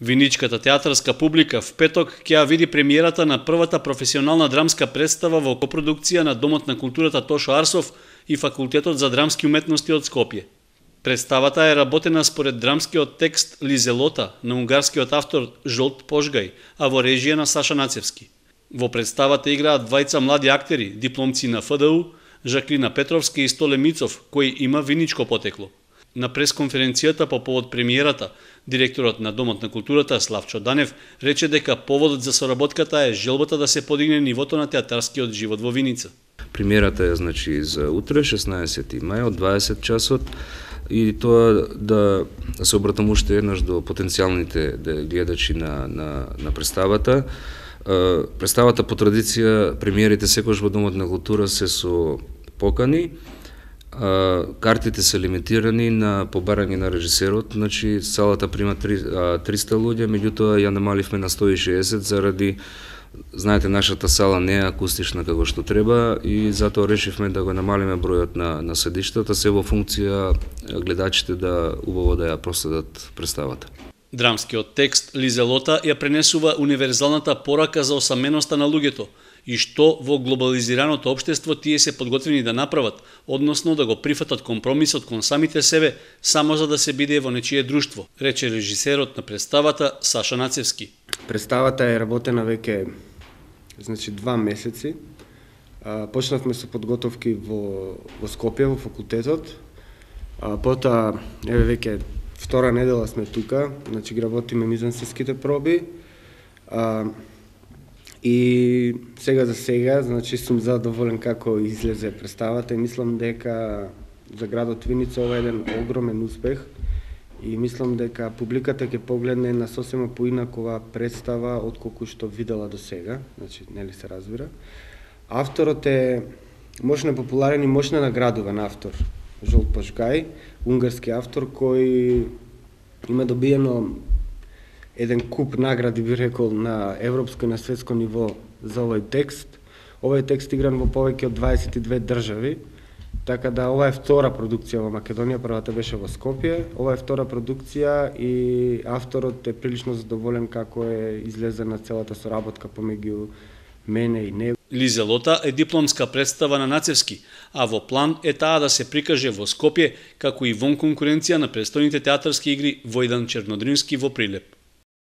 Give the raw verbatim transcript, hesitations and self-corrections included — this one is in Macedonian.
Виничката театарска публика в петок ќе ја види премиерата на првата професионална драмска представа во копродукција на Домот на културата Тошо Арсов и Факултетот за драмски уметности од Скопје. Представата е работена според драмскиот текст Лизелота на унгарскиот автор Жолт Пожгај, а во режија на Саша Нацевски. Во представата играат двајца млади актери, дипломци на Ф Д У, Жаклина Петровски и Столе Мицов, кој има виничко потекло. На пресконференцијата по повод премиерата, директорот на Домот на културата Славчо Данев рече дека поводот за соработката е желбата да се подигне нивото на театарскиот живот во Виница. Премиерата е значи за утре, шеснаесети мај од дваесет часот, и тоа да се обратам уште еднаш до потенцијалните гледачи на на на представата. Представата по традиција премиерите секогаш во Домот на култура се со покани. Картите се лимитирани на побарање на режисерот, значи салата прима триста луѓе, меѓутоа ја намаливме на сто и шеесет заради, знаете, нашата сала не е акустична како што треба и затоа решивме да го намалиме бројот на на седиштата, се во функција гледачите да убаво да ја проследат представата. Драмскиот текст Лизелота ја пренесува универзалната порака за осаменоста на луѓето и што во глобализираното општество тие се подготвени да направат, односно да го прифатат компромисот кон самите себе само за да се биде во нечие друштво, рече режисерот на представата Саша Нацевски. Представата е работена веќе значи два месеци. А, почнавме со подготовки во во Скопје во факултетот. А, потоа еве веќе втора недела сме тука, значи работиме мизансценските проби. А, И сега за сега, значи сум задоволен како излезе представата и мислам дека за градот Виница ова е еден огромен успех и мислам дека публиката ќе погледне на сосема поинакова представа отколку што видела до сега, значи нели се разбира. Авторот е мощно популарен и мощно наградуван автор, Жолт Пожгај, унгарски автор кој има добиено еден куп награди, би рекол, на европско и на светско ниво за овој текст. Овој текст игран во повеќе од дваесет и две држави, така да ова е втора продукција во Македонија, првата беше во Скопје. Ова е втора продукција и авторот е прилично задоволен како е излезена целата соработка помеѓу мене и него. Лизелота е дипломска представа на Нацевски, а во план е таа да се прикаже во Скопје, како и вон конкуренција на престојните театарски игри во еден Чернодрински во Прилеп.